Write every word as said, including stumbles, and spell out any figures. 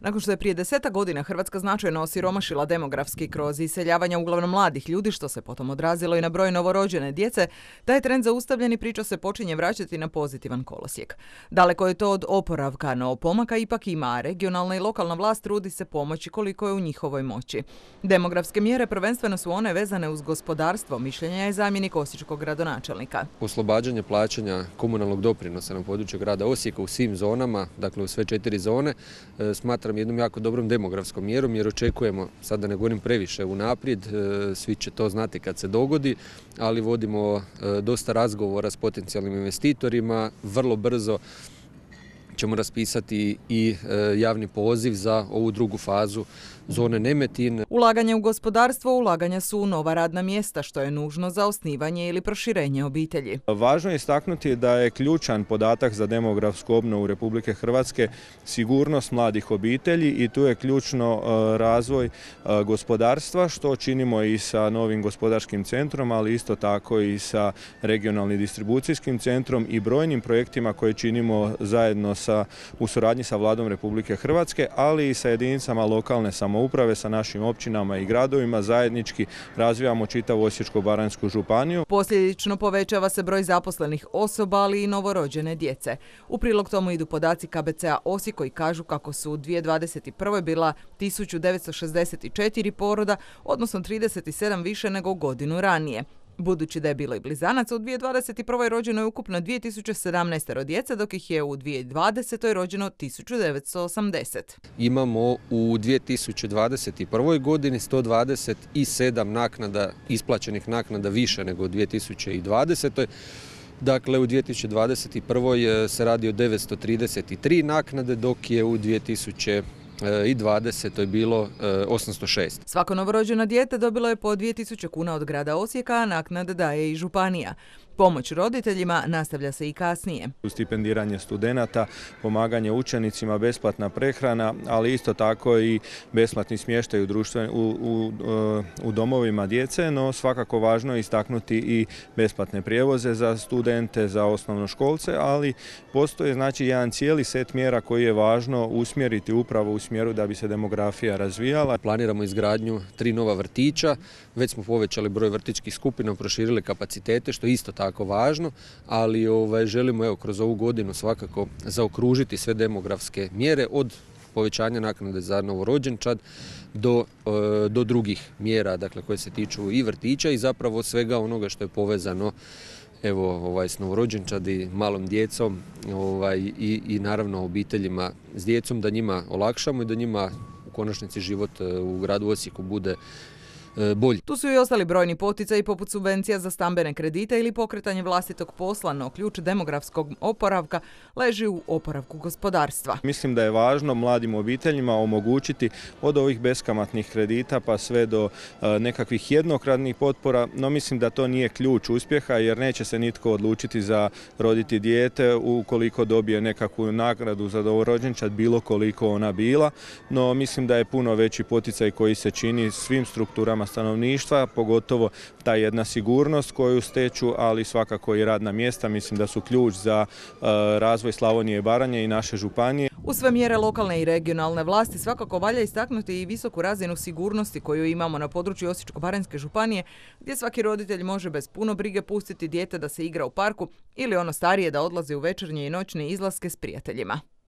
Nakon što je prije desetak godina Hrvatska značajno osiromašila demografski kroz iseljavanja uglavnom mladih ljudi, što se potom odrazilo i na broj novorođene djece, taj trend zaustavljen i priča se počinje vraćati na pozitivan kolosijek. Daleko je to od oporavka, no pomaka ipak ima, a regionalna i lokalna vlast trudi se pomoći koliko je u njihovoj moći. Demografske mjere prvenstveno su one vezane uz gospodarstvo, mišljenja je zamjenik osječkog gradonačelnika. Oslobađanje plaćanja komunalnog doprinosa na području grada Osijeka u svim zonama, dakle u sve četiri zone, smatram jednom jako dobrom demografskom mjerom jer očekujemo, sad da ne govorim previše unaprijed, svi će to znati kad se dogodi, ali vodimo dosta razgovora s potencijalnim investitorima, vrlo brzo ćemo raspisati i javni poziv za ovu drugu fazu zone Nemetin. Ulaganje u gospodarstvo, ulaganja su u nova radna mjesta, što je nužno za osnivanje ili proširenje obitelji. Važno je istaknuti da je ključan podatak za demografsku obnovu Republike Hrvatske sigurnost mladih obitelji i tu je ključno razvoj gospodarstva, što činimo i sa novim gospodarskim centrom, ali isto tako i sa regionalnim distribucijskim centrom i brojnim projektima koje činimo zajedno sa, u suradnji sa Vladom Republike Hrvatske, ali i sa jedinicama lokalne samouprave. Uprave sa našim općinama i gradovima zajednički razvijamo čitavu Osječko-baranjsku županiju. Posljedično povećava se broj zaposlenih osoba, ali i novorođene djece. U prilog tomu idu podaci K B C-a Osijek koji kažu kako su u dvije tisuće dvadeset prve bila tisuću devetsto šezdeset četiri poroda, odnosno trideset sedam više nego godinu ranije. Budući da je bilo i blizanaca, u dvije tisuće dvadeset prve rođeno je ukupno dvije tisuće sedamnaest djece, dok ih je u dvije tisuće dvadesete rođeno tisuću devetsto osamdeset. Imamo u dvije tisuće dvadeset prvoj godini sto dvadeset sedam naknada, isplaćenih naknada više nego u dvije tisuće dvadesetoj. Dakle, u dvije tisuće dvadeset prvoj se radi o devetsto trideset tri naknade, dok je u dvije tisuće dvadesetoj je bilo osamsto šest. Svako novorođeno dijete dobilo je po dvije tisuće kuna od grada Osijeka, a naknade daje i županija. Pomoć roditeljima nastavlja se i kasnije. Stipendiranje studenata, pomaganje učenicima, besplatna prehrana, ali isto tako i besplatni smještaj u, društven, u, u, u domovima djece, no svakako važno je istaknuti i besplatne prijevoze za studente, za osnovnoškolce, ali postoji znači jedan cijeli set mjera koji je važno usmjeriti upravo u smjeru da bi se demografija razvijala. Planiramo izgradnju tri nova vrtića, već smo povećali broj vrtićkih skupina, proširili kapacitete, što je isto tako tako važno, ali ovaj, želimo evo, kroz ovu godinu svakako zaokružiti sve demografske mjere od povećanja naknade za novorođenčad do, do drugih mjera, dakle, koje se tiču i vrtića i zapravo svega onoga što je povezano evo, ovaj, s novorođenčad i malom djecom ovaj, i, i naravno obiteljima s djecom, da njima olakšamo i da njima u konačnici život u gradu Osijeku bude bolji. Tu su i ostali brojni poticaji poput subvencija za stambene kredite ili pokretanje vlastitog posla, no ključ demografskog oporavka leži u oporavku gospodarstva. Mislim da je važno mladim obiteljima omogućiti od ovih beskamatnih kredita pa sve do nekakvih jednokratnih potpora, no mislim da to nije ključ uspjeha jer neće se nitko odlučiti za roditi dijete ukoliko dobije nekakvu nagradu za novorođenčad, bilo koliko ona bila, no mislim da je puno veći poticaj koji se čini svim strukturama stanovništva, pogotovo ta jedna sigurnost koju steču, ali svakako i radna mjesta, mislim da su ključ za razvoj Slavonije i Baranje i naše županije. U sve mjere lokalne i regionalne vlasti svakako valja istaknuti i visoku razinu sigurnosti koju imamo na području Osječko-baranjske županije, gdje svaki roditelj može bez puno brige pustiti dijete da se igra u parku ili ono starije da odlazi u večernje i noćne izlaske s prijateljima.